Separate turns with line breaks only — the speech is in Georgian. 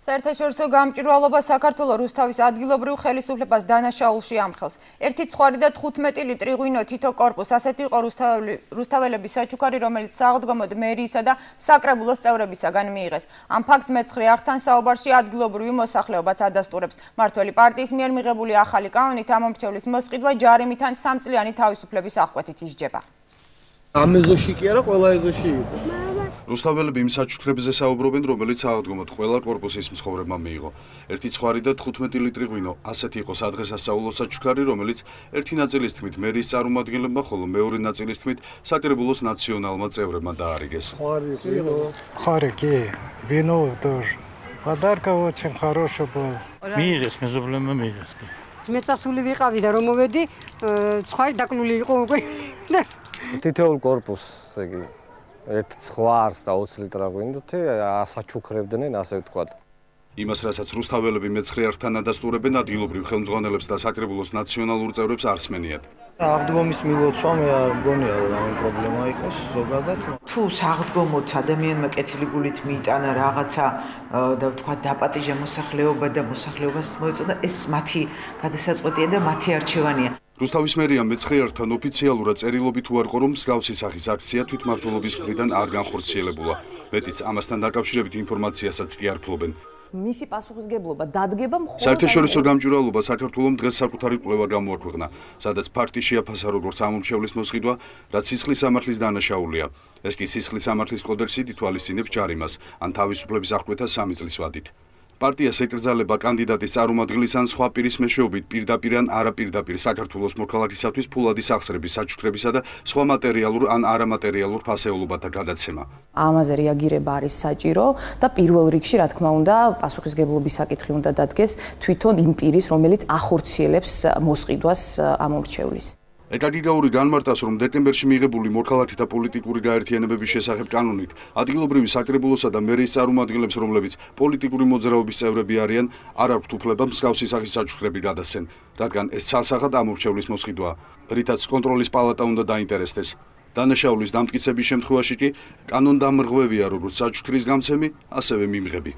საერთაშორისო გამჭვირვალობა საქართველოს რუსთავის ადგილობრივ ხელისუფლებას დანაშაულში ამხელს. 1.5 და 15 ლიტრი ღვინო თითო კორპუსს, ასეთი იყო რუსთაველების საჩუქარი, რომელიც საღდგომოდ მერიისა და საკრებულოს წევრებისაგან მიიღეს. ამ ფაქტს მეცხრე არხთან საუბარში ადგილობრივი მოსახლეობაც ადასტურებს. მმართველი პარტიის მიერ მიღებული ახალი კანონით ამ მომრჩევლის მოსყიდვა ჯარიმით ან 3 წლიანი თავისუფლების აღკვეთით ისჯება.
ამ ეზოში კი არა, ყველა ეზოში იყო.
რუსთაველები იმ საჩუქრებზე საუბრობენ, რომელიც საღდგომოდ ყველა კორპუსის მცხოვრებმა მიიღო. 1.5 და 15 ლიტრი ღვინო, ასეთი იყო სადღესასწაულო საჩუქარი, რომელიც ერთი ნაწილის თქმით მერის წარმომადგენლებმა, ხოლო მეორე ნაწილის თქმით საკრებულოს ნაციონალმა წევრებმა დაარიგეს.
Вино тоже. Подарка очень хороший был.
მიიღეს მეზობლებმა მიიღეს.
მეწასული ვიყავი და რომ მოვედი, ცხარი დაკლული იყო უკვე.
თითოეულ კორპუსს, იგი ერთ ხვარს და 20 ლიტრა ღვინოთი ასაჩუქრებდნენ, ასე ვთქვათ.
იმას, რასაც რუსთაველები მეცხრე არხთან ადასტურებენ, ადგილობრივ ხელმძღვანელებს და საკრებულოს ნაციონალურ წევრებს არ სმენიათ.
აღდგომის მილოცვა მე არ მგონია, რომ ამ პრობლემა იყოს ზოგადად.
თუ საღდგომოდ ადამიანმა კეთილი გულით მიიტანა რაღაცა და ვთქვათ დაპატიჟა მოსახლეობა და მოსახლეობას მოეწონა, ეს მათი გადასაწყვეტია და მათი არჩევანია.
რუსთავის მერიამ მეცხრე არხთან ოფიციალურად წერილობით უარყო, რომ მსგავსი სახის აქცია თვითმმართველობის მხრიდან არ განხორციელებულა. მეტიც, ამასთან დაკავშირებით ინფორმაციასაც კი არ ფლობენ.
მისი პასუხისგებლობა დადგება მხოლოდ
საერთაშორისო გამჭვირვალობა საქართველოს დღეს საკუთარი კვლევა გამოაქვეყნა, სადაც ფაქტი შეაფასა როგორც ამომრჩევლის მოსყიდვა, რაც სისხლის სამართლის დანაშაულია. ეს კი სისხლის სამართლის კოდექსით ითვალისწინებს ჯარიმას, ან თავისუფლების აღკვეთას 3 წლის ვადით. პარტიას ეკრძალება კანდიდატის წარმომადგენლის ან სხვა პირის მეშვეობით პირდაპირ ან არაპირდაპირ საქართველოს მოქალაქისათვის ფულადი სახსრების, საჩუქრებისა და სხვა მატერიალურ ან არამატერიალურ ფასეულობათა გადაცემა.
ამაზე რეაგირება არის საჭირო და პირველ რიგში, რა თქმა უნდა, პასუხისგებლობის საკითხი უნდა დადგეს თვითონ იმ პირის, რომელიც ახორციელებს მოსყიდვას ამომრჩევლის.
ეკაგიგაური განმარტავს, რომ დეკემბერში მიღებული მოქალაქეთა პოლიტიკური გაერთიანებების შესახებ კანონით ადგილობრივი საკრებულოსა და მერის წარმომადგენლებს, რომლებიც პოლიტიკური მოძრაობის წევრები არიან, არ აქვთ უფლება მსგავსი სახის საჩუქრები გადასცენ, რადგან ეს ცალსახად ამორჩევლის მოსყიდვაა, რითაც კონტროლის პალატა უნდა დაინტერესდეს. დანაშაულის დამტკიცების შემთხვევაში კი კანონდამრღვევია როგორც საჩუქრის გამცემი, ასევე მიმღები.